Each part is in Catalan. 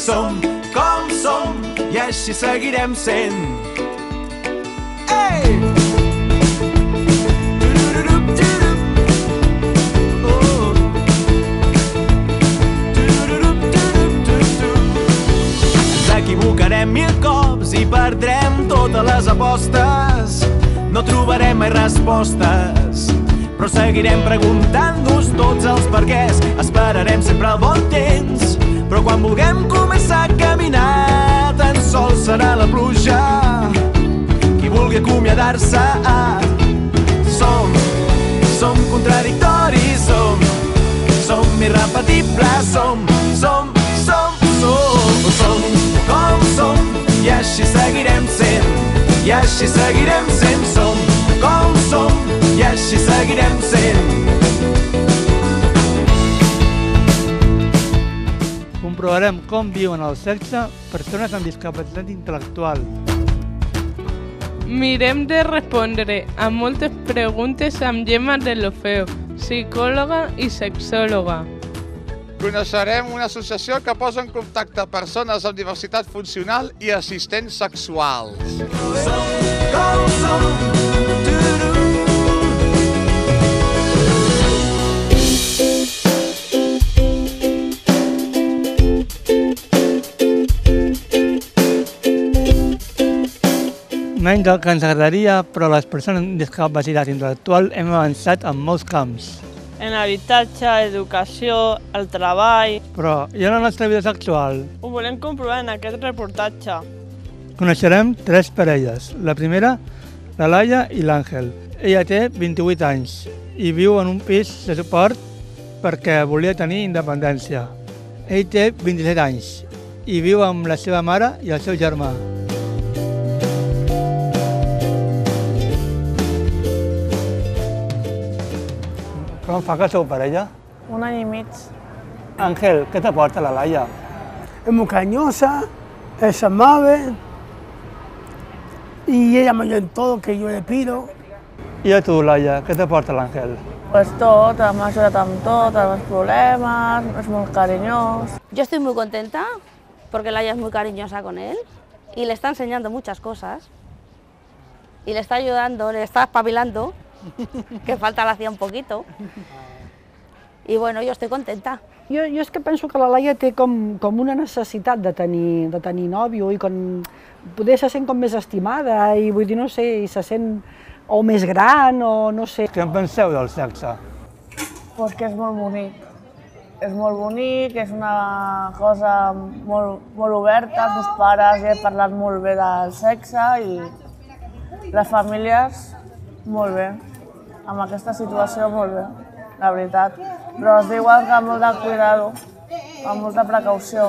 Som com som i així seguirem sent. Ei! Ens equivocarem 1000 cops i perdrem totes les apostes. No trobarem mai respostes, però seguirem preguntant-nos tots els perquès. Esperarem sempre el bon temps, però quan vulguem començar a caminar, tan sols serà la pluja qui vulgui acomiadar-se. Som contradictoris, som irrepetibles, som com som i així seguirem sent, i així seguirem sent. Som com som i així seguirem sent. Comprovarem com viuen el sexe persones amb discapacitat intel·lectual. Mirem de respondre a moltes preguntes amb Gemma Deulofeu, psicòloga i sexòloga. Coneixerem una associació que posa en contacte persones amb diversitat funcional i assistents sexuals. Som com som. Menys del que ens agradaria, però les persones amb discapacitat intel·lectual hem avançat en molts camps. En habitatge, educació, el treball. Però i en la nostra vida sexual? Ho volem comprovar en aquest reportatge. Coneixerem 3 parelles. La primera, la Laia i l'Àngel. Ella té 28 anys i viu en un pis de suport perquè volia tenir independència. Ell té 27 anys i viu amb la seva mare i el seu germà. Com fa que sou parella? 1 any i mig. Ángel, què t'aporta la Laia? Es muy cariñosa, es amable y ella me ayuda en todo que yo le pido. I a tu, Laia, què t'aporta l'Àngel? Pues tot, m'ha ajudat amb tot, amb els problemes, és molt cariñós. Yo estoy muy contenta porque Laia es muy cariñosa con él y le está enseñando muchas cosas y le está ayudando, le está espabilando, que falta le hacía un poquito. I bueno, jo estic contenta. Jo és que penso que la Laia té com una necessitat de tenir nòvio i poder se sent com més estimada i vull dir, no sé, i se sent o més gran o no sé. Què en penseu del sexe? Pues que és molt bonic. És molt bonic, és una cosa molt oberta, els meus pares ja he parlat molt bé del sexe i les famílies molt bé. Amb aquesta situació molt bé, la veritat. Però es diuen que molt de cuidado, amb molta precaució.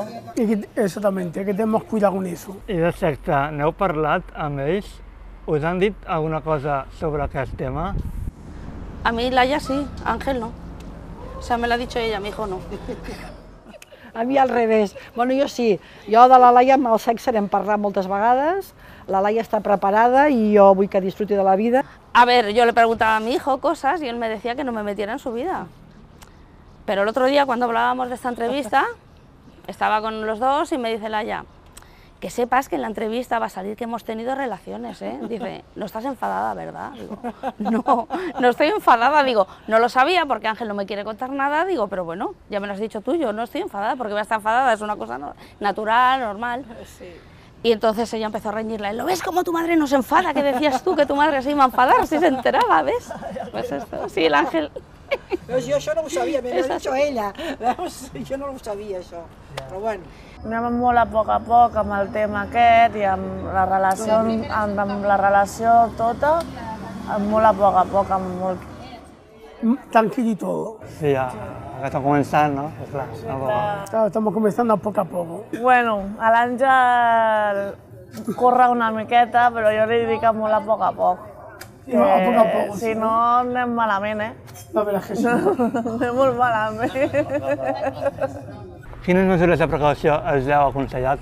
Exactamente, que tenemos cuidado con eso. I de sexe, n'heu parlat amb ells? Us han dit alguna cosa sobre aquest tema? A mí Laia sí, Ángel no. O sea, me lo ha dicho ella, mi hijo no. A mi al revés. Bueno, jo sí. Jo de la Laia amb el sexe n'hem parlat moltes vegades. La Laia està preparada y yo vull que disfrute de la vida. A ver, yo le preguntaba a mi hijo cosas y él me decía que no me metiera en su vida. Pero el otro día, cuando hablábamos de esta entrevista, estaba con los dos y me dice Laia, que sepas que en la entrevista va a salir que hemos tenido relaciones, ¿eh? Dice, no estás enfadada, ¿verdad? Digo, no estoy enfadada. Digo, no lo sabía porque Ángel no me quiere contar nada. Digo, pero bueno, ya me lo has dicho tú, yo no estoy enfadada porque voy a estar enfadada, es una cosa natural, normal. Sí. Y entonces ella empezó a reñirle, ¿lo ves como tu madre no se enfada? ¿Qué decías tú que tu madre se iba a enfadar si se enteraba, ves? Pues esto, sí, el Ángel. Veus, jo això no ho sabia, me l'ha dit ella. Veus? Jo no ho sabia, això. Però bueno. Anem molt a poc amb el tema aquest i amb la relació tota, molt a poc, amb molt... Tranquilo y todo. Sí, ja està començant, no? Clar, Claro, estamos comenzando poco a poco. Bueno, a l'Àngel corre una miqueta, però jo li dic molt a poc. Que, a poc. Si no, anem malament, eh? La verdad es que sí. Anem molt malament. Quines mesures de precaució us heu aconsellat?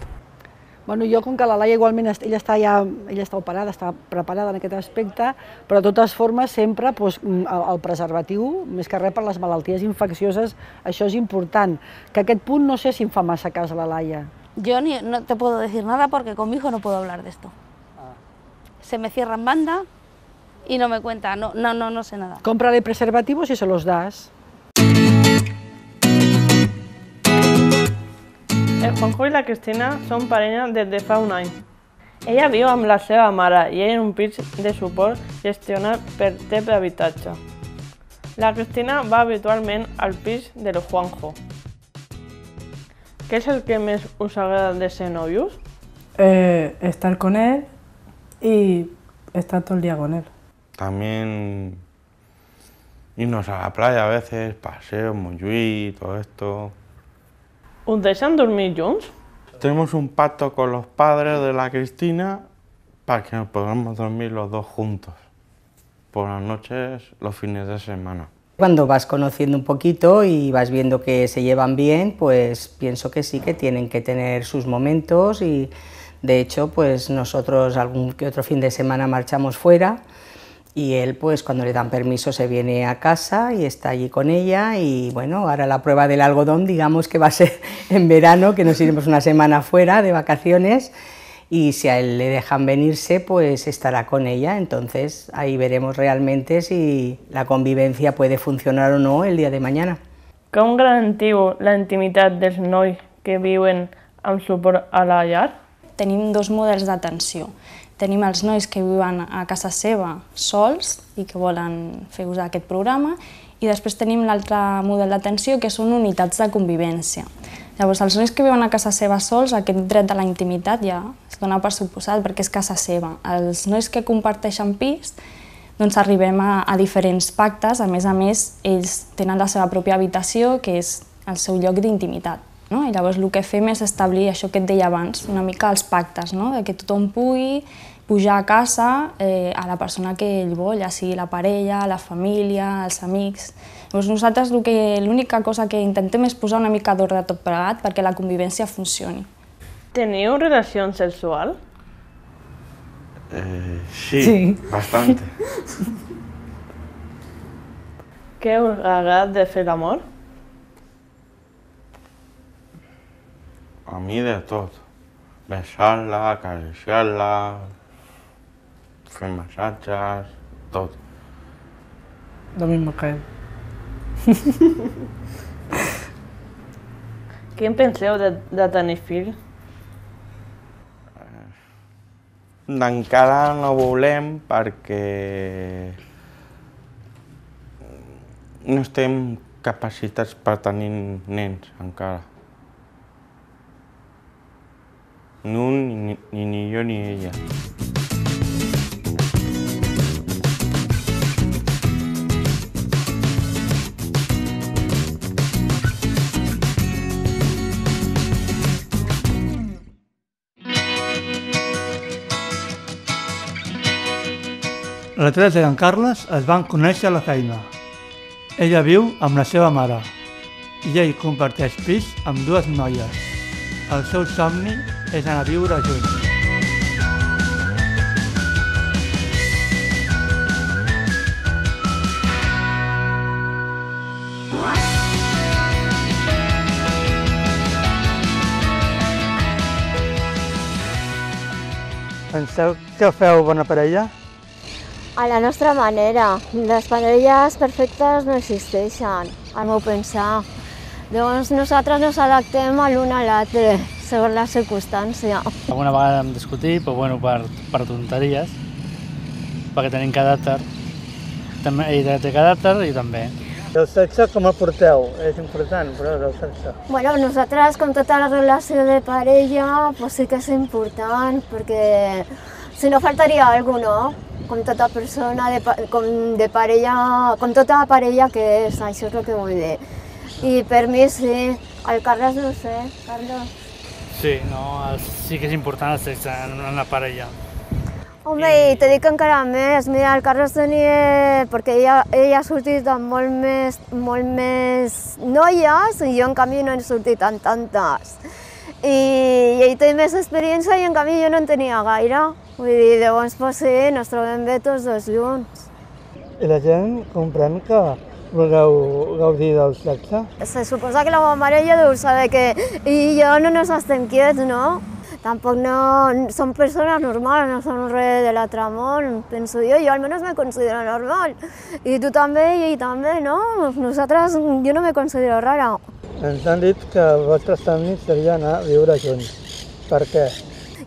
Bueno, jo, com que la Laia igualment ella està operada, està preparada en aquest aspecte, però de totes formes sempre el preservatiu, més que res per les malalties infeccioses, això és important. Que aquest punt no sé si em fa massa cas a la Laia. Yo no te puedo decir nada porque con mi hijo no puedo hablar de esto. Se me cierra en banda y no me cuenta, no sé nada. Cómprale preservativos y se los das. El Juanjo i la Cristina són parella des de fa un any. Ella viu amb la seva mare i ell en un pis de suport gestionat per TEP d'habitatge. La Cristina va habitualment al pis del Juanjo. ¿Qué es el que más os agrada de ser novios? Estar con él y estar todo el día con él. También irnos a la playa a veces, paseo, Montjuïc, todo esto. ¿Os dejan dormir juntos? Tenemos un pacto con los padres de la Cristina para que nos podamos dormir los dos juntos, por las noches, los fines de semana. Cuando vas conociendo un poquito y vas viendo que se llevan bien, pues pienso que sí, que tienen que tener sus momentos y de hecho pues nosotros algún que otro fin de semana marchamos fuera y él pues cuando le dan permiso se viene a casa y está allí con ella y bueno, ahora la prueba del algodón digamos que va a ser en verano, que nos iremos una semana fuera de vacaciones y si a él le dejan venirse, pues estará con ella, entonces ahí veremos realmente si la convivencia puede funcionar o no el día de mañana. Com garantiu la intimitat dels nois que viuen amb suport a la llar? Tenim dos models d'atenció. Tenim els nois que viuen a casa seva sols i que volen fer ús d'aquest programa i després tenim l'altre model d'atenció que són unitats de convivència. Llavors, els nois que viuen a casa seva sols, aquest dret de la intimitat ja es dona per suposat perquè és casa seva. Els nois que comparteixen pis, doncs arribem a diferents pactes, a més, ells tenen la seva pròpia habitació, que és el seu lloc d'intimitat. I llavors el que fem és establir això que et deia abans, una mica els pactes, de que tothom pugui pujar a casa a la persona que ell vol, ja sigui la parella, la família, els amics. Llavors nosaltres l'única cosa que intentem és posar una mica d'ordre tot plegat perquè la convivència funcioni. Teniu relació sexual? Sí, bastante. ¿Qué os agrada de hacer amor? A mí de todo. Besarla, acariciarla, fer massatges, tot. Lo mismo que él. Què en penseu de tenir fills? Encara no volem perquè no estem capacitats per tenir nens encara. Ni un, ni jo ni ella. La Teresa i en Carles es van conèixer a la feina. Ella viu amb la seva mare i ell comparteix pis amb dues noies. El seu somni és anar a viure junts. Penseu que feu bona parella? A la nostra manera. Les parelles perfectes no existeixen, al meu pensar. Llavors nosaltres ens adaptem a l'un a l'altre, segons la circumstància. Alguna vegada hem discutit, però bueno, per tonteries, perquè tenim caràcter. Ella té caràcter i també. El sexe com el porteu? És important, però el sexe. Bueno, nosaltres, com tota la relació de parella, pues sí que és important, perquè si no faltaria alguna cosa, no? Com tota persona, de parella, com tota parella que és, això és el que vull dir. I per mi sí, el Carles no sé, Carles. Sí, no, sí que és important el sexe en la parella. Home, i te dic encara més, mira, el Carles tenia... perquè ell ha sortit amb molt més noies i jo en canvi no he sortit amb tantes. I ell té més experiència i en canvi jo no en tenia gaire. Vull dir, llavors, pues sí, ens trobem bé tots dos junts. I la gent comprèn que vulgueu gaudir del sexe? Se suposa que la meva mare ja deu saber que ell i jo no ens estem quiets, no? Tampoc no som persones normals, no som res de l'altre món, penso jo almenys me considero normal. I tu també, i ell també, no? Nosaltres, jo no me considero rara. Ens han dit que el vostre somni seria anar a viure junts. Per què?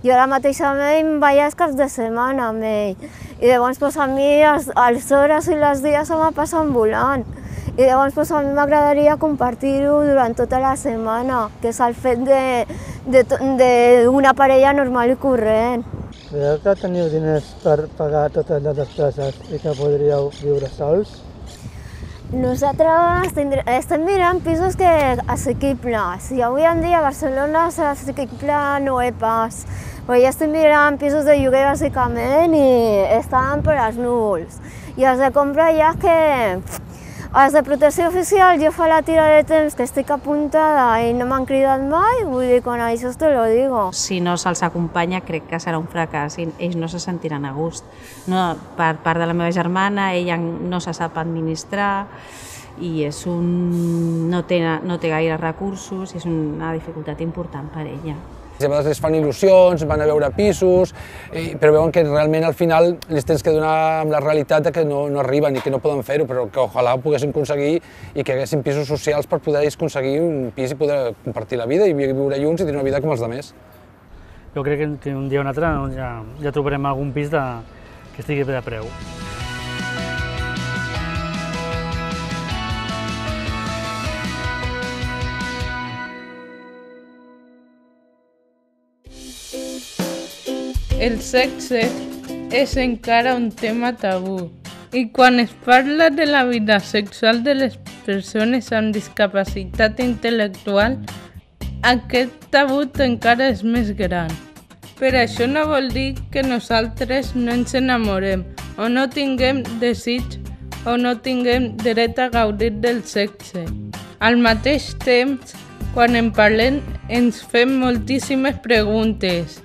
Jo ara mateix amb ell em vaig els caps de setmana amb ell. I llavors a mi les hores i els dies se me passen volant. I llavors a mi m'agradaria compartir-ho durant tota la setmana, que és el fet d'una parella normal i corrent. Creieu que teniu diners per pagar totes les despeses i que podríeu viure sols? Nosaltres estem mirant pisos assequibles. I avui en dia a Barcelona assequible no és pas. Però ja estem mirant pisos de lloguer bàsicament i estan per als núvols. I els de compra ja que els de protecció oficial jo fa la tira de temps que estic apuntada i no m'han cridat mai, vull dir, con això te lo digo. Si no se'ls acompanya crec que serà un fracàs i ells no se sentiran a gust. No, per part de la meva germana, ella no se sap administrar i no té gaire recursos i és una dificultat important per ella. A vegades les fan il·lusions, van a veure pisos, però veuen que realment al final les tens que donar amb la realitat que no arriben i que no poden fer-ho, però que ojalà ho poguessin aconseguir i que haguessin pisos socials per poder aconseguir un pis i poder compartir la vida i viure junts i tenir una vida com els altres. Jo crec que un dia o un altre ja trobarem algun pis que estigui bé de preu. El sexe és encara un tema tabú i quan es parla de la vida sexual de les persones amb discapacitat intel·lectual, aquest tabú encara és més gran. Però això no vol dir que nosaltres no ens enamorem o no tinguem desig o no tinguem dret a gaudir del sexe. Al mateix temps, quan en parlem, ens fem moltíssimes preguntes.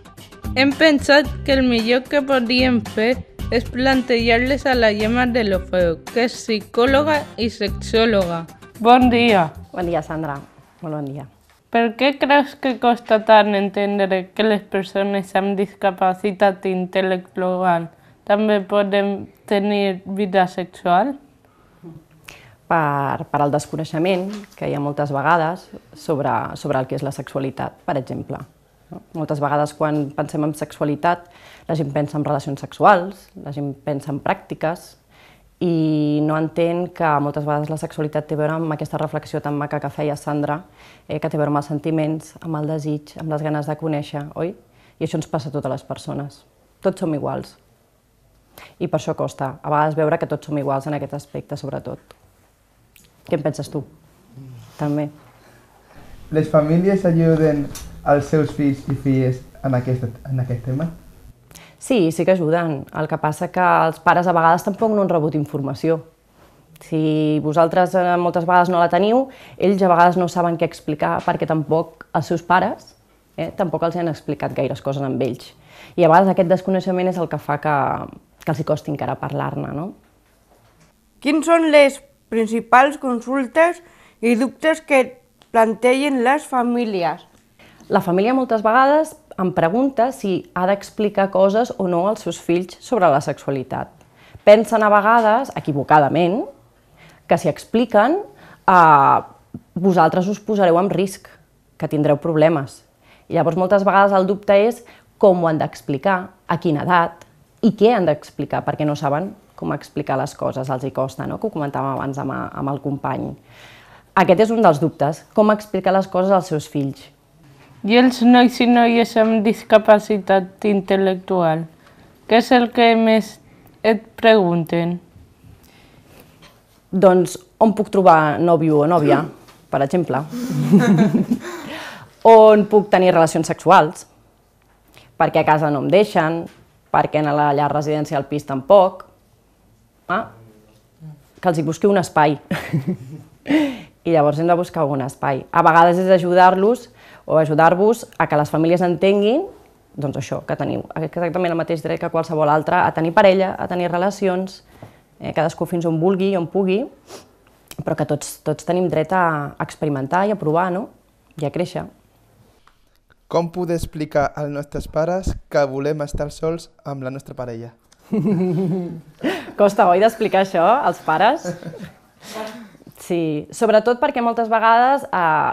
Hem pensat que el millor que podríem fer és plantejar-les a la Gemma Deulofeu, que és psicòloga i sexòloga. Bon dia. Bon dia, Sandra. Molt bon dia. Per què creus que costa tant entendre que les persones amb discapacitat intel·lectual també poden tenir vida sexual? Per al desconeixement que hi ha moltes vegades sobre el que és la sexualitat, per exemple. Moltes vegades quan pensem en sexualitat la gent pensa en relacions sexuals, la gent pensa en pràctiques i no entén que moltes vegades la sexualitat té a veure amb aquesta reflexió tan maca que feia Sandra, que té a veure amb els sentiments, amb el desig, amb les ganes de conèixer, oi? I això ens passa a totes les persones. Tots som iguals. I per això costa, a vegades, veure que tots som iguals en aquest aspecte, sobretot. Què en penses tu? També. Les famílies ajuden els seus fills i filles en aquest tema? Sí que ajuden. El que passa que els pares a vegades tampoc no han rebut informació. Si vosaltres moltes vegades no la teniu, ells a vegades no saben què explicar perquè tampoc els seus pares tampoc els han explicat gaires coses amb ells. I a vegades aquest desconeixement és el que fa que els hi costi encara parlar-ne, no? Quins són les principals consultes i dubtes que plantegen les famílies? La família moltes vegades em pregunta si ha d'explicar coses o no als seus fills sobre la sexualitat. Pensen a vegades, equivocadament, que si expliquen vosaltres us posareu en risc, que tindreu problemes. I llavors moltes vegades el dubte és com ho han d'explicar, a quina edat i què han d'explicar, perquè no saben com explicar les coses, els hi costa, no? Que ho comentàvem abans amb el company. Aquest és un dels dubtes, com explicar les coses als seus fills. I els nois i noies amb discapacitat intel·lectual, què és el que més et pregunten? Doncs on puc trobar nòvio o nòvia, per exemple. On puc tenir relacions sexuals, perquè a casa no em deixen, perquè a la llar residència al pis tampoc. Que els hi busqui un espai. I llavors hem de buscar un espai. A vegades és ajudar-los o ajudar-vos a que les famílies entenguin doncs això, que teniu exactament el mateix dret que qualsevol altre a tenir parella, a tenir relacions, cadascú fins on vulgui i on pugui, però que tots tenim dret a experimentar i a provar, no? I a créixer. Com poder explicar als nostres pares que volem estar sols amb la nostra parella? Costa, oi, d'explicar això als pares? Sí, sobretot perquè moltes vegades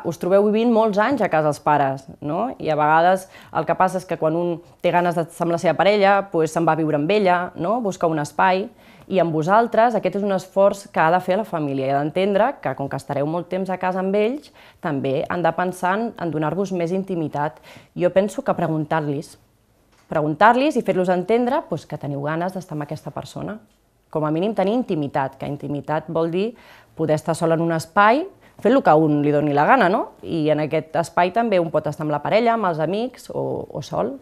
us trobeu vivint molts anys a casa els pares, no? I a vegades el que passa és que quan un té ganes d'estar amb la seva parella, se'n va a viure amb ella, no? Busca un espai, i amb vosaltres aquest és un esforç que ha de fer la família i ha d'entendre que, com que estareu molt temps a casa amb ells, també han de pensar en donar-vos més intimitat. Jo penso que preguntar-los i fer-los entendre que teniu ganes d'estar amb aquesta persona. Com a mínim tenir intimitat, que intimitat vol dir poder estar sol en un espai fent el que a un li doni la gana, no? I en aquest espai també un pot estar amb la parella, amb els amics o sol.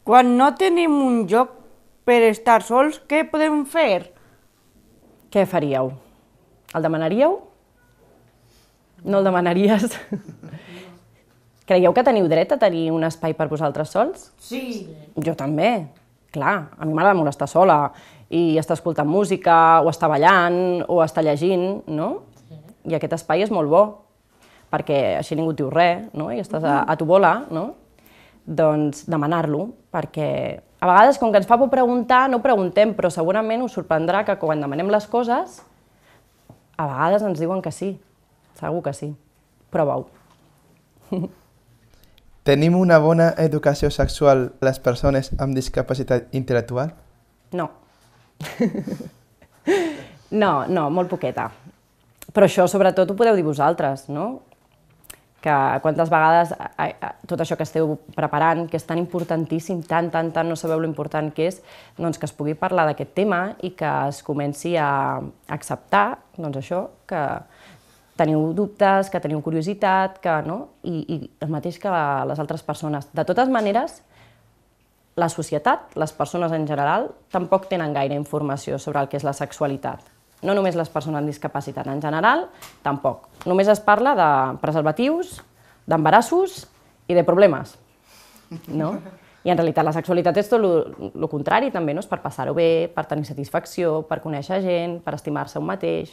Quan no tenim un lloc per estar sols, què podem fer? Què faríeu? El demanaríeu? No el demanaries? Creieu que teniu dret a tenir un espai per vosaltres sols? Sí. Jo també. Clar, a mi m'agrada molt estar sola i estar escoltant música, o estar ballant, o estar llegint, no? I aquest espai és molt bo, perquè així ningú et diu res, no? I estàs a tu bola, no? Doncs demanar-lo, perquè a vegades, com que ens fa por preguntar, no preguntem, però segurament us sorprendrà que quan demanem les coses, a vegades ens diuen que sí, segur que sí. Prova-ho. Tenim una bona educació sexual les persones amb discapacitat intel·lectual? No. No, molt poqueta. Però això sobretot ho podeu dir vosaltres, no? Que quantes vegades tot això que esteu preparant, que és tan importantíssim, tant no sabeu l'important que és, doncs que es pugui parlar d'aquest tema i que es comenci a acceptar, doncs això, que teniu dubtes, que teniu curiositat, que no? I el mateix que les altres persones. De totes maneres, la societat, les persones en general, tampoc tenen gaire informació sobre el que és la sexualitat. No només les persones amb discapacitat, en general, tampoc. Només es parla de preservatius, d'embarassos i de problemes, no? I en realitat la sexualitat és tot el contrari, també, no? És per passar-ho bé, per tenir satisfacció, per conèixer gent, per estimar-se un mateix.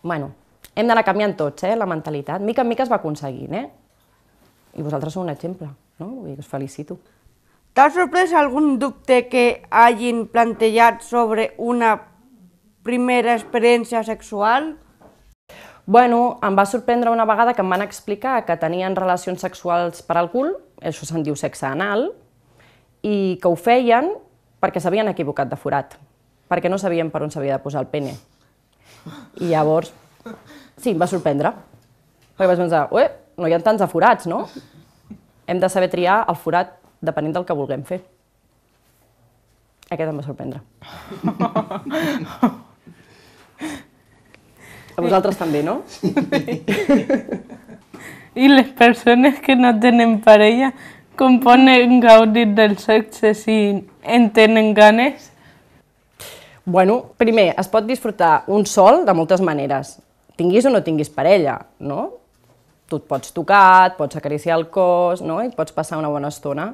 Bueno, hem d'anar canviant tots, la mentalitat. Mica en mica es va aconseguint, I vosaltres sou un exemple, no? Vull dir que us felicito. T'ha sorprès algun dubte que hagin plantejat sobre una primera experiència sexual? Bueno, em va sorprendre una vegada que em van explicar que tenien relacions sexuals per al cul, això se'n diu sexe anal, i que ho feien perquè s'havien equivocat de forat, perquè no sabien per on s'havia de posar el pene. I llavors, sí, em va sorprendre, perquè vaig pensar, no hi ha tants de forats, no? Hem de saber triar el forat depenent del que vulguem fer. Aquest em va sorprendre. A vosaltres també, no? I les persones que no tenen parella, com poden gaudir del sexe si en tenen ganes? Bueno, primer, es pot disfrutar un sol de moltes maneres. Tinguis o no tinguis parella, no? Tu et pots tocar, et pots acariciar el cos, no? I et pots passar una bona estona.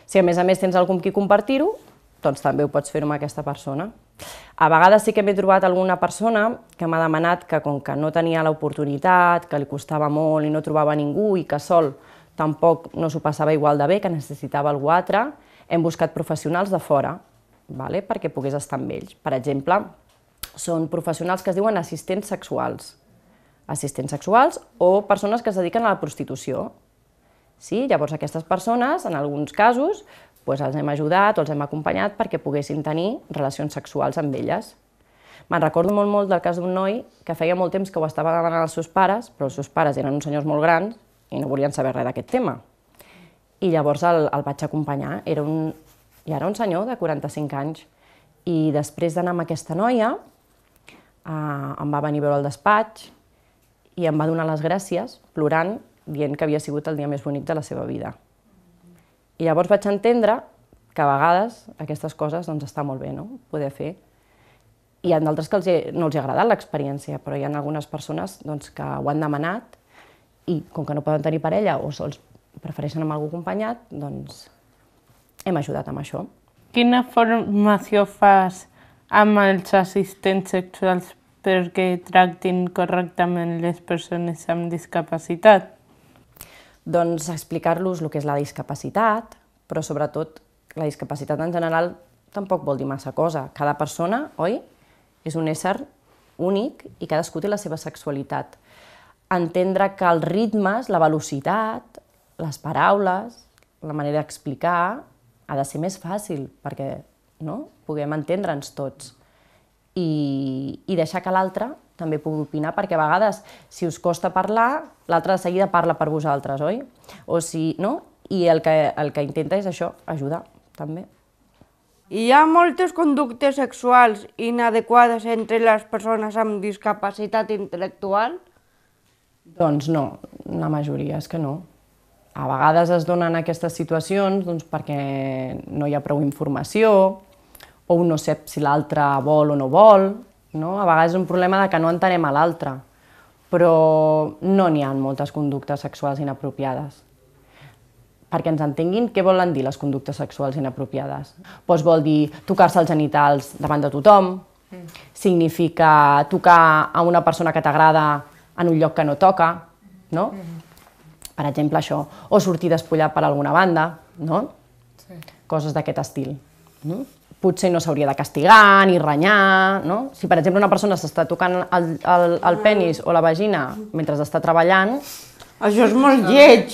Si a més tens algú amb qui compartir-ho, doncs també ho pots fer amb aquesta persona. A vegades sí que m'he trobat alguna persona que m'ha demanat que, com que no tenia l'oportunitat, que li costava molt i no trobava ningú i que sol tampoc no s'ho passava igual de bé, que necessitava algú altre, hem buscat professionals de fora, perquè pogués estar amb ells. Per exemple, són professionals que es diuen assistents sexuals. Assistents sexuals o persones que es dediquen a la prostitució. Llavors aquestes persones, en alguns casos, els hem ajudat o els hem acompanyat perquè poguessin tenir relacions sexuals amb elles. Me'n recordo molt del cas d'un noi que feia molt temps que ho estava demanant als seus pares, però els seus pares eren uns senyors molt grans i no volien saber res d'aquest tema. I llavors el vaig acompanyar. Era un senyor de 45 anys. I després d'anar amb aquesta noia, em va venir a veure al despatx i em va donar les gràcies, plorant, dient que havia sigut el dia més bonic de la seva vida. I llavors vaig entendre que a vegades aquestes coses està molt bé, poder fer. Hi ha d'altres que no els ha agradat l'experiència, però hi ha algunes persones que ho han demanat i com que no poden tenir parella o sols prefereixen amb algú acompanyat, doncs hem ajudat amb això. Quina formació fas amb els assistents sexuals perquè tractin correctament les persones amb discapacitat? Doncs explicar-los el que és la discapacitat, però sobretot la discapacitat en general tampoc vol dir massa cosa. Cada persona, oi, és un ésser únic i cadascú té la seva sexualitat. Entendre que els ritmes, la velocitat, les paraules, la manera d'explicar ha de ser més fàcil perquè puguem entendre'ns tots i deixar que l'altre també pugui opinar, perquè a vegades, si us costa parlar, l'altre de seguida parla per vosaltres, oi? I el que intenta és això, ajudar, també. Hi ha moltes conductes sexuals inadequades entre les persones amb discapacitat intel·lectual? Doncs no, la majoria és que no. A vegades es donen aquestes situacions perquè no hi ha prou informació, o un no sap si l'altre vol o no vol. A vegades és un problema que no entenem a l'altre, però no n'hi ha moltes conductes sexuals inapropiades. Perquè ens entenguin, què volen dir les conductes sexuals inapropiades? Doncs vol dir tocar-se els genitals davant de tothom, significa tocar a una persona que t'agrada en un lloc que no toca, no? Per exemple, això. O sortir despullat per alguna banda, no? Coses d'aquest estil. Potser no s'hauria de castigar ni renyar, no? Si, per exemple, una persona s'està tocant el penis o la vagina mentre està treballant... Això és molt lleig!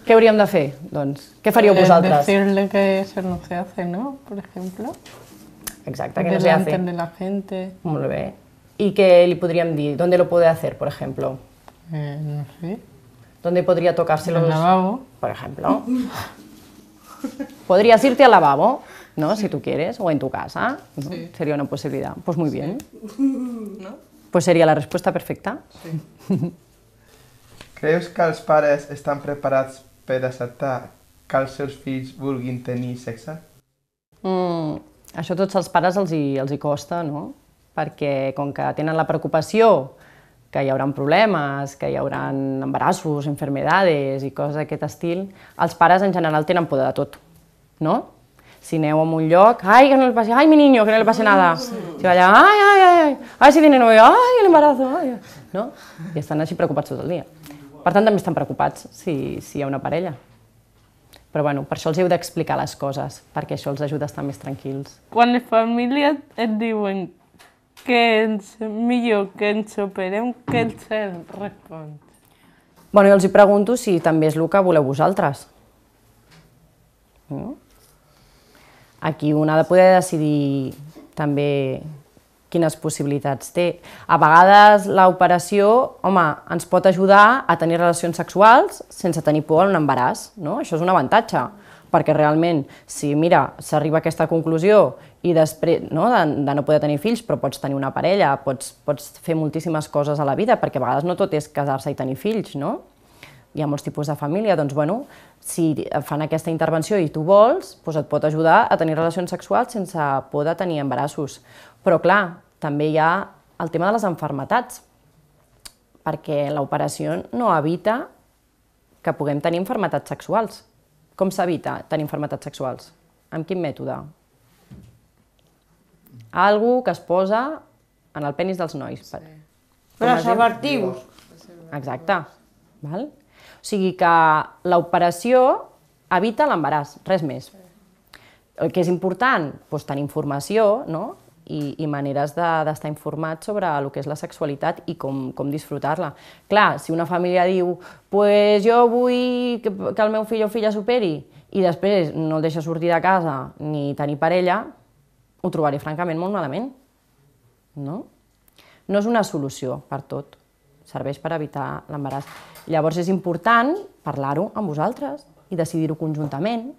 Què hauríem de fer? Doncs, què faríeu vosaltres? Decirle que eso no se hace, ¿no? Por ejemplo. Exacte, que no se hace. Delante de la gente. Molt bé. I què li podríem dir? ¿Dónde lo puede hacer, por ejemplo? No sé. ¿Dónde podría tocarse los...? En el lavabo. Por ejemplo. Podrías irte al lavabo, ¿no? Si tú quieres, o en tu casa. ¿No? Sí. Sería una posibilidad. Pues muy bien. ¿No? Pues sería la respuesta perfecta. Sí. Creus que els pares estan preparats per acceptar que els seus fills vulguin tenir sexe? Això a tots els pares els hi costa, no? Perquè com que tenen la preocupació que hi haurà problemes, que hi haurà embarassos, enfermedades i coses d'aquest estil, els pares en general tenen por de tot, no? Si aneu a un lloc, ai, que no le pase, ai, mi niño, que no le pase nada. Si va allà, ai, si tiene novio, ai, el embarazo, ai, no? I estan així preocupats tot el dia. Per tant, també estan preocupats si hi ha una parella. Però bueno, per això els heu d'explicar les coses, perquè això els ajuda a estar més tranquils. Quan les famílies et diuen que és millor que ens operem, què els respons? Bueno, jo els pregunto si també és el que voleu vosaltres. Aquí un ha de poder decidir també quines possibilitats té. A vegades l'operació, home, ens pot ajudar a tenir relacions sexuals sense tenir por a un embaràs, no? Això és un avantatge, perquè realment, si mira, s'arriba a aquesta conclusió i després de no poder tenir fills, però pots tenir una parella, pots fer moltíssimes coses a la vida, perquè a vegades no tot és casar-se i tenir fills, no? Hi ha molts tipus de família, doncs, bueno, si fan aquesta intervenció i tu vols, doncs et pot ajudar a tenir relacions sexuals sense por de tenir embarassos. Però, clar, també hi ha el tema de les malalties, perquè l'operació no evita que puguem tenir malalties sexuals. Com s'evita tenir malalties sexuals? Amb quin mètode? Algo que es posa en el penis dels nois. Preservatiu. Exacte. O sigui que l'operació evita l'embaràs, res més. El que és important, doncs tenir informació, no? I maneres d'estar informats sobre el que és la sexualitat i com disfrutar-la. Clar, si una família diu pues jo vull que el meu fill o filla superi i després no el deixa sortir de casa ni tenir parella, ho trobaré francament molt malament. No és una solució per tot, serveix per evitar l'embaràs. Llavors és important parlar-ho amb vosaltres i decidir-ho conjuntament.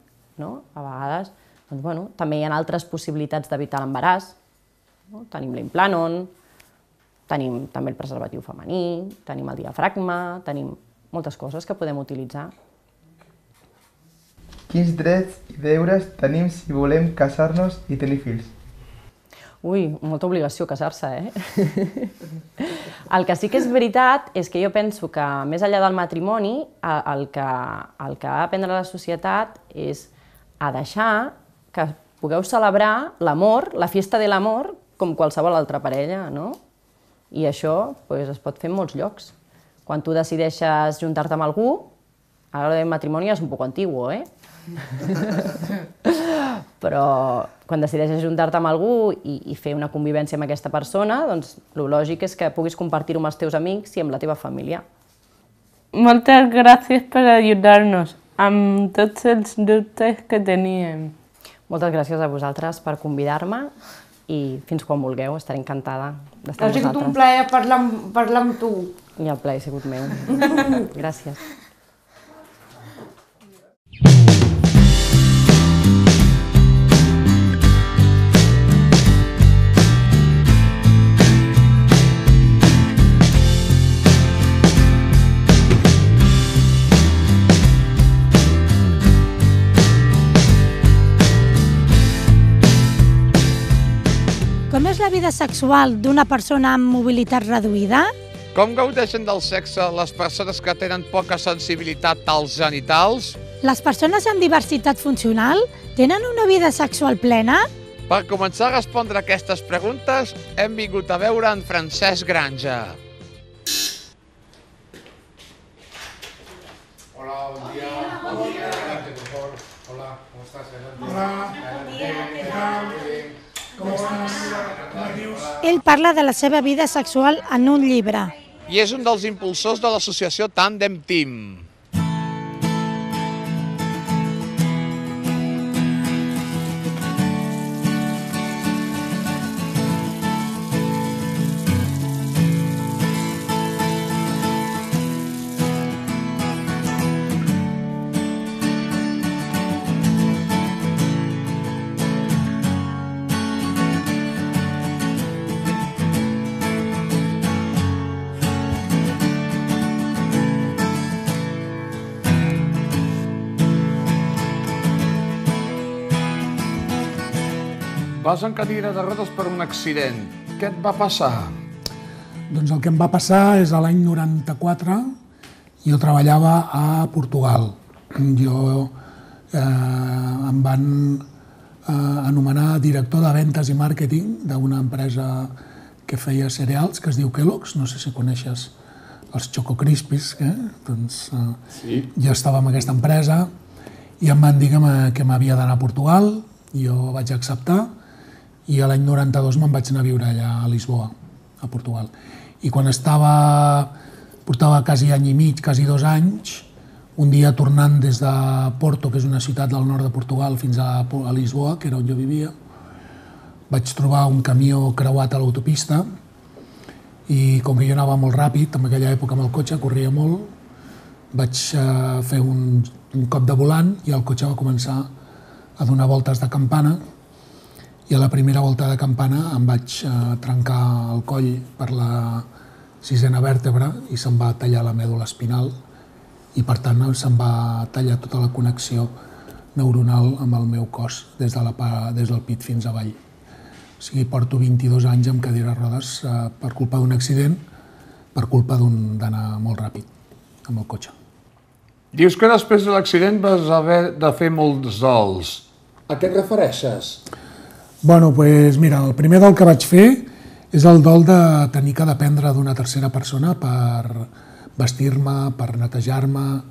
A vegades també hi ha altres possibilitats d'evitar l'embaràs. Tenim l'implanon, tenim també el preservatiu femení, tenim el diafragma, tenim moltes coses que podem utilitzar. Quins drets i deures tenim si volem casar-nos i tenir fills? Ui, molta obligació casar-se, El que sí que és veritat és que jo penso que més enllà del matrimoni, el que ha d'aprendre la societat és a deixar que pugueu celebrar l'amor, la fiesta de l'amor, com qualsevol altra parella, no? I això es pot fer en molts llocs. Quan tu decideixes juntar-te amb algú, ara el matrimoni és un poc antiguo, però quan decideixes juntar-te amb algú i fer una convivència amb aquesta persona, doncs el lògic és que puguis compartir-ho amb els teus amics i amb la teva família. Moltes gràcies per ajudar-nos amb tots els dubtes que teníem. Moltes gràcies a vosaltres per convidar-me i fins quan vulgueu, estaré encantada d'estar amb vosaltres. Ha sigut un plaer parlar amb tu. I el plaer ha sigut meu. Gràcies. Com és la vida sexual d'una persona amb mobilitat reduïda? Com gaudeixen del sexe les persones que tenen poca sensibilitat als genitals? Les persones amb diversitat funcional tenen una vida sexual plena? Per començar a respondre aquestes preguntes, hem vingut a veure en Francesc Granja. Hola, bon dia. Bon dia. Hola, com estàs? Hola, bon dia. Com estàs? Ell parla de la seva vida sexual en un llibre. I és un dels impulsors de l'associació Tandem Team. Vas en cadira de rodes per un accident. Què et va passar? Doncs el que em va passar és a l'any 94. Jo treballava a Portugal. Em van anomenar director de ventes i màrqueting d'una empresa que feia cereals, que es diu Kellogg's. No sé si coneixes els Choco Crispies. Doncs jo estava en aquesta empresa i em van dir que m'havia d'anar a Portugal. Jo vaig acceptar i a l'any 92 me'n vaig anar a viure allà a Lisboa, a Portugal. I quan portava quasi any i mig, quasi 2 anys, un dia tornant des de Porto, que és una ciutat del nord de Portugal, fins a Lisboa, que era on jo vivia, vaig trobar un camió creuat a l'autopista i com que jo anava molt ràpid, en aquella època amb el cotxe, corria molt, vaig fer un cop de volant i el cotxe va començar a donar voltes de campana i a la primera volta de campana em vaig trencar el coll per la 6a vèrtebra i se'm va tallar la mèdula espinal i per tant se'm va tallar tota la connexió neuronal amb el meu cos des del pit fins avall. O sigui, porto 22 anys amb cadira de rodes per culpa d'un accident, per culpa d'anar molt ràpid amb el cotxe. Dius que després de l'accident vas haver de fer molts dols. A què et refereixes? Bueno, doncs mira, el primer dol que vaig fer és el dol de tenir que dependre d'una tercera persona per vestir-me, per netejar-me,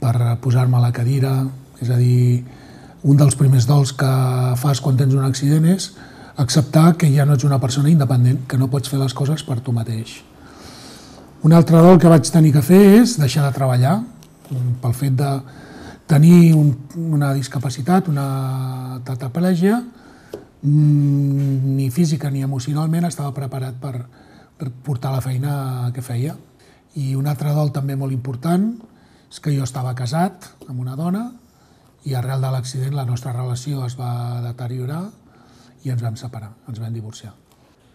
per posar-me a la cadira. És a dir, un dels primers dols que fas quan tens un accident és acceptar que ja no ets una persona independent, que no pots fer les coses per tu mateix. Un altre dol que vaig tenir que fer és deixar de treballar, pel fet de tenir una discapacitat, una tetraplegia, ni física ni emocionalment estava preparat per portar la feina que feia. I un altre dol també molt important és que jo estava casat amb una dona i arrel de l'accident la nostra relació es va deteriorar i ens vam separar, ens vam divorciar.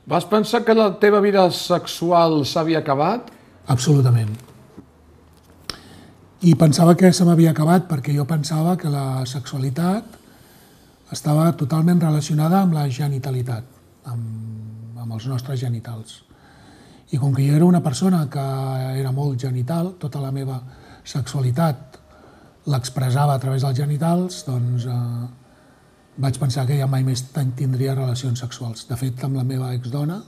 Vas pensar que la teva vida sexual s'havia acabat? Absolutament. I pensava que se m'havia acabat perquè jo pensava que la sexualitat estava totalment relacionada amb la genitalitat, amb els nostres genitals. I com que jo era una persona que era molt genital, tota la meva sexualitat l'expressava a través dels genitals, doncs vaig pensar que ja mai més tindria relacions sexuals. De fet, amb la meva exdona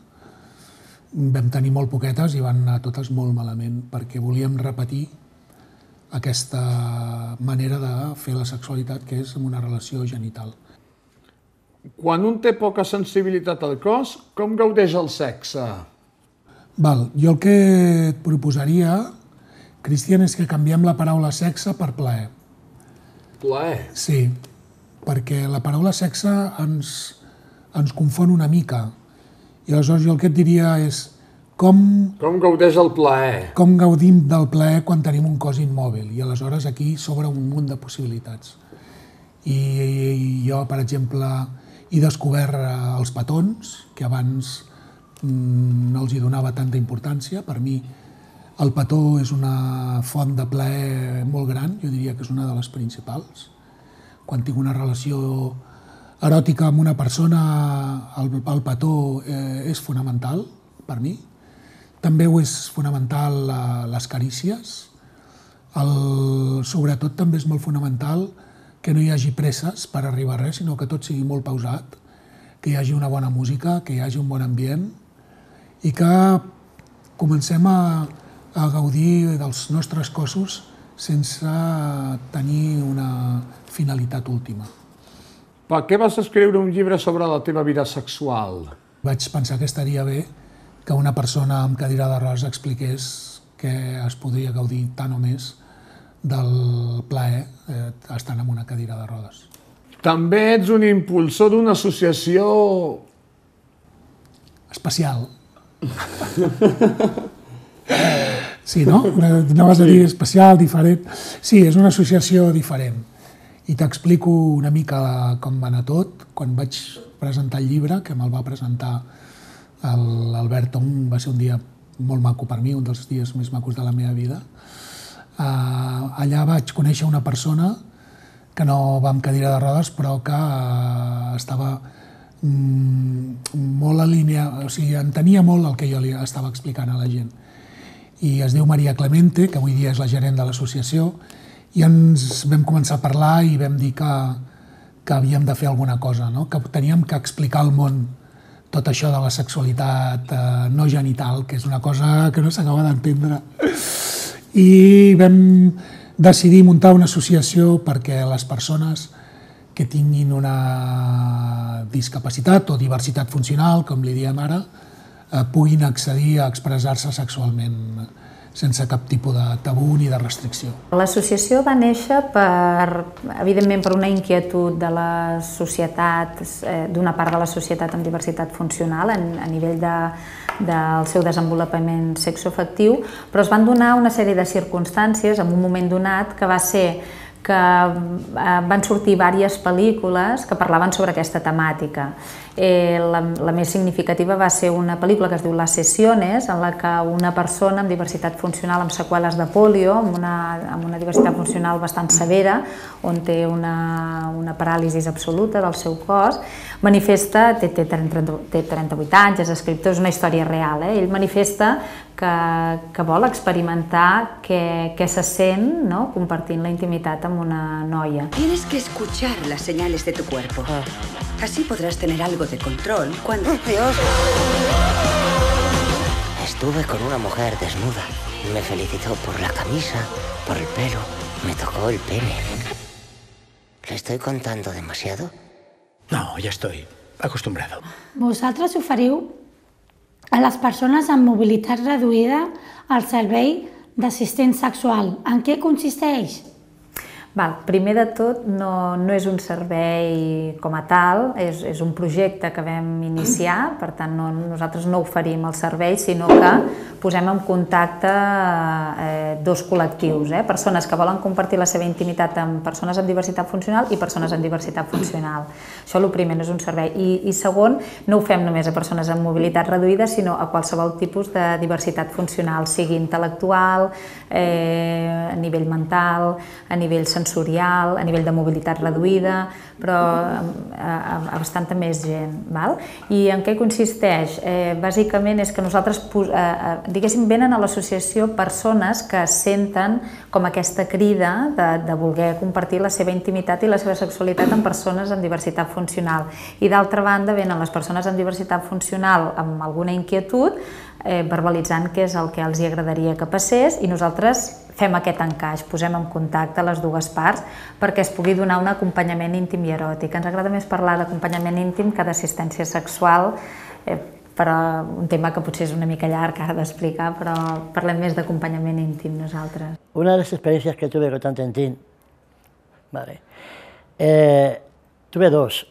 vam tenir molt poquetes i van anar totes molt malament, perquè volíem repetir aquesta manera de fer la sexualitat, que és amb una relació genital. Quan un té poca sensibilitat al cos, com gaudeix el sexe? Jo el que et proposaria, Cristian, és que canviem la paraula sexe per plaer. Plaer? Sí, perquè la paraula sexe ens confon una mica. I aleshores jo el que et diria és com gaudeix el plaer? Com gaudim del plaer quan tenim un cos immòbil. I aleshores aquí s'obre un munt de possibilitats. I jo, per exemple, he descobert els petons, que abans no els hi donava tanta importància. Per mi el petó és una font de plaer molt gran, jo diria que és una de les principals. Quan tinc una relació eròtica amb una persona, el petó és fonamental per mi. També ho és fonamental les carícies. Sobretot també és molt fonamental que no hi hagi presses per arribar a res, sinó que tot sigui molt pausat, que hi hagi una bona música, que hi hagi un bon ambient i que comencem a gaudir dels nostres cossos sense tenir una finalitat última. Per què vas escriure un llibre sobre la teva vida sexual? Vaig pensar que estaria bé que una persona amb cadira de rodes expliqués que es podria gaudir tant o més del plaer estant en una cadira de rodes. També ets un impulsor d'una associació... especial. Sí, no? Anaves a dir especial, diferent. Sí, és una associació diferent. I t'explico una mica com va anar tot. Quan vaig presentar el llibre, que me'l va presentar l'Albert Tong, va ser un dia molt maco per mi, un dels dies més macos de la meva vida. Allà vaig conèixer una persona que no va amb cadira de rodes, però que estava molt alineat, o sigui, entenia molt el que jo li estava explicant a la gent. I es diu Maria Clemente, que avui dia és la gerent de l'associació, i ens vam començar a parlar i vam dir que havíem de fer alguna cosa, que teníem que explicar al món tot això de la sexualitat no genital, que és una cosa que no s'acaba d'entendre. I vam decidir muntar una associació perquè les persones que tinguin una discapacitat o diversitat funcional, com li diem ara, puguin accedir a expressar-se sexualment sense cap tipus de tabú ni de restricció. L'associació va néixer, evidentment, per una inquietud de la societat, d'una part de la societat amb diversitat funcional a nivell del seu desenvolupament sexoafectiu, però es van donar una sèrie de circumstàncies en un moment donat que va ser que van sortir diverses pel·lícules que parlaven sobre aquesta temàtica. La més significativa va ser una pel·lícula que es diu Las Sesiones, en la que una persona amb diversitat funcional, amb seqüeles de polio, amb una diversitat funcional bastant severa, on té una paràlisi absoluta del seu cos, manifesta, té 38 anys, és escriptor, és una història real, ell manifesta que vol experimentar què se sent compartint la intimitat amb una noia. Tienes que escuchar las señales de tu cuerpo. Así podrás tener algo de control cuando... ¡Dios! Estuve con una mujer desnuda. Me felicitó por la camisa, por el pelo. Me tocó el pene. ¿Le estoy contando demasiado? No, ya estoy acostumbrado. Vosaltres oferiu a les persones amb mobilitat reduïda el servei d'assistent sexual. En què consisteix? Primer de tot, no és un servei com a tal, és un projecte que vam iniciar, per tant nosaltres no oferim el servei, sinó que posem en contacte dos col·lectius, persones que volen compartir la seva intimitat amb persones amb diversitat funcional i persones amb diversitat funcional. Això el primer, no és un servei. I segon, no ho fem només a persones amb mobilitat reduïda, sinó a qualsevol tipus de diversitat funcional, sigui intel·lectual, a nivell mental, a nivell sensorial, sensorial, a nivell de mobilitat reduïda, però a bastanta més gent. I en què consisteix? Bàsicament és que nosaltres, diguéssim, venen a l'associació persones que senten com aquesta crida de voler compartir la seva intimitat i la seva sexualitat amb persones amb diversitat funcional. I d'altra banda venen les persones amb diversitat funcional amb alguna inquietud, verbalitzant què és el que els agradaria que passés, i nosaltres fem aquest encaix, posem en contacte les dues parts perquè es pugui donar un acompanyament íntim i eròtic. Ens agrada més parlar d'acompanyament íntim que d'assistència sexual, però un tema que potser és una mica llarg ara d'explicar, però parlem més d'acompanyament íntim nosaltres. Una de las experiencias que tuve con Tantentín, tuve dos.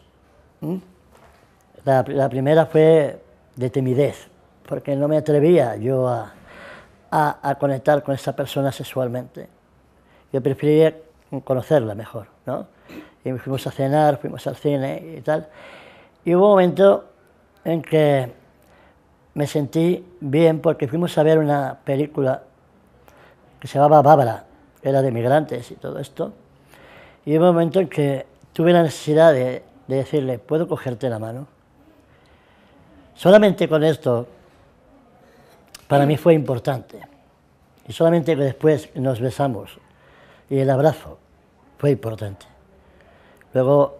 La primera fue de timidez, porque no me atrevía yo a conectar con esa persona sexualmente. Yo prefería conocerla mejor, ¿no? Y fuimos a cenar, fuimos al cine y tal. Y hubo un momento en que me sentí bien porque fuimos a ver una película que se llamaba Bárbara, que era de migrantes y todo esto. Y hubo un momento en que tuve la necesidad de decirle, ¿puedo cogerte la mano? Solamente con esto, para mí fue importante. Y solamente que después nos besamos y el abrazo fue importante. Luego,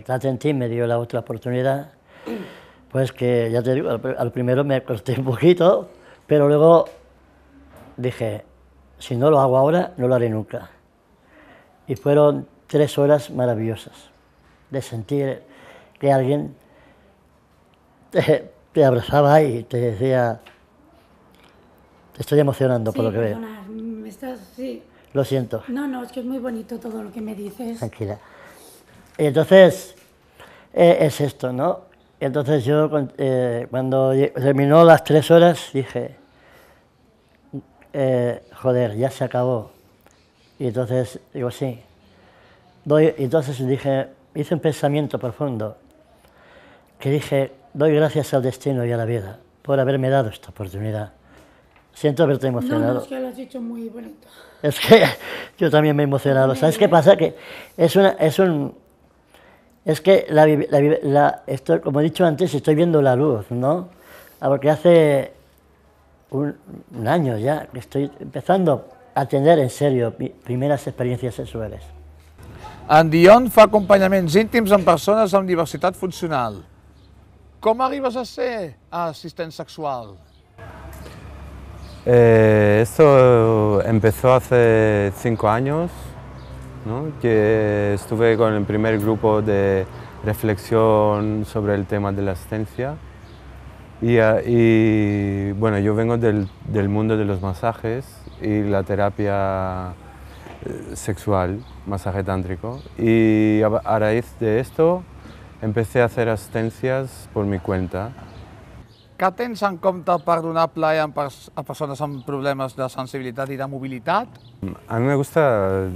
Tantentín me dio la otra oportunidad, pues que ya te digo, al primero me costé un poquito, pero luego dije, si no lo hago ahora, no lo haré nunca. Y fueron 3 horas maravillosas de sentir que alguien te abrazaba y te decía, te estoy emocionando por lo que veo. Sí. Lo siento. No, es que es muy bonito todo lo que me dices. Tranquila. Y entonces, es esto, ¿no? Entonces yo, cuando terminó las 3 horas, dije, joder, ya se acabó. Y entonces, digo, sí. Entonces dije, hice un pensamiento profundo, que dije, doy gracias al destino y a la vida por haberme dado esta oportunidad. Siento haberte emocionado. No, es que lo has dicho muy bonito. Es que yo también me he emocionado. ¿Sabes qué pasa? Que es que esto, como he dicho antes, estoy viendo la luz, ¿no? Porque hace un año ya que estoy empezando a tener en serio mis primeras experiencias sexuales. En Dion fa acompanyaments íntims amb persones amb diversitat funcional. Com arribes a ser asistent sexual? Esto empezó hace 5 años, ¿no? Que estuve con el primer grupo de reflexión sobre el tema de la asistencia y bueno, yo vengo del mundo de los masajes y la terapia sexual, masaje tántrico, y a raíz de esto empecé a hacer asistencias por mi cuenta. Què tens en compte per donar plaer a persones amb problemes de sensibilitat i de mobilitat? A mí me gusta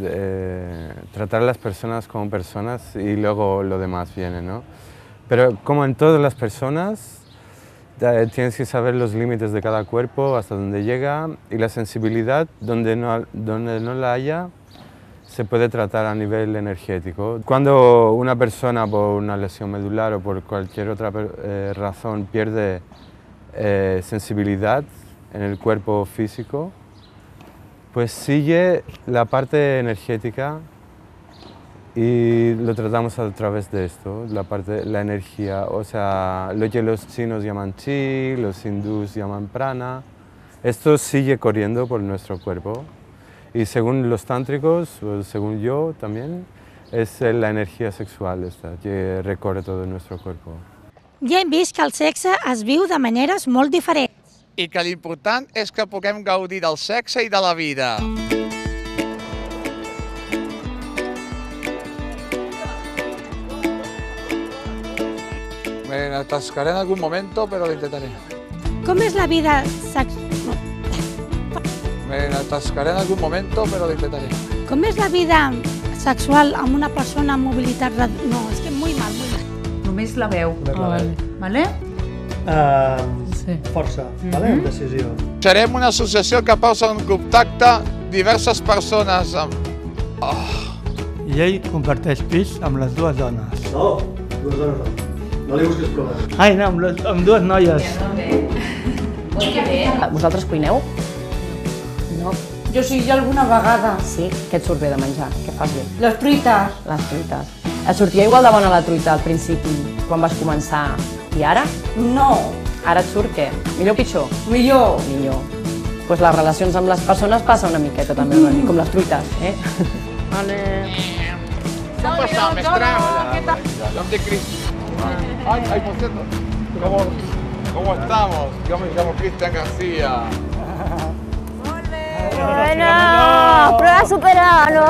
tratar a las personas como personas y luego lo demás viene, ¿no? Pero como en todas las personas, tienes que saber los límites de cada cuerpo, hasta dónde llega, y la sensibilidad, donde no la haya, se puede tratar a nivel energético. Cuando una persona por una lesión medular o por cualquier otra razón pierde sensibilidad en el cuerpo físico, pues sigue la parte energética y lo tratamos a través de esto, la energía, o sea, lo que los chinos llaman chi, los hindús llaman prana, esto sigue corriendo por nuestro cuerpo y según los tántricos, o según yo también, es la energía sexual esta que recorre todo nuestro cuerpo. Ja hem vist que el sexe es viu de maneres molt diferents. I que l'important és que puguem gaudir del sexe i de la vida. Me atascaré en algún momento, pero lo intentaré. Com és la vida sexual? Me atascaré en algún momento, pero lo intentaré. Com és la vida sexual amb una persona amb mobilitat reduïda? No, és que molt mal. Només la veu. Vale? Força, vale? Amb decisió. Serem una associació que posa en contacte diverses persones amb... i ell comparteix pis amb les dues dones. No, dues dones no. No li busquis problemes. Ai, no, amb dues noies. Vosaltres cuineu? No. Jo sí, alguna vegada. Sí? Què et surt bé de menjar? Què fas bé? Les truites. Les truites. Et sortia igual de bona la truita al principi, quan vas començar, i ara? No. Ara et surt què? Millor o pitjor? Millor. Millor. Pues les relacions amb les persones passa una miqueta també, com les truites, eh? Vale. ¿Qué ha pasado, Mestral? Yo de Cristian. Ay, por cierto, ¿cómo estamos? Yo me llamo Cristian García. Bueno, prueba superada, ¿no?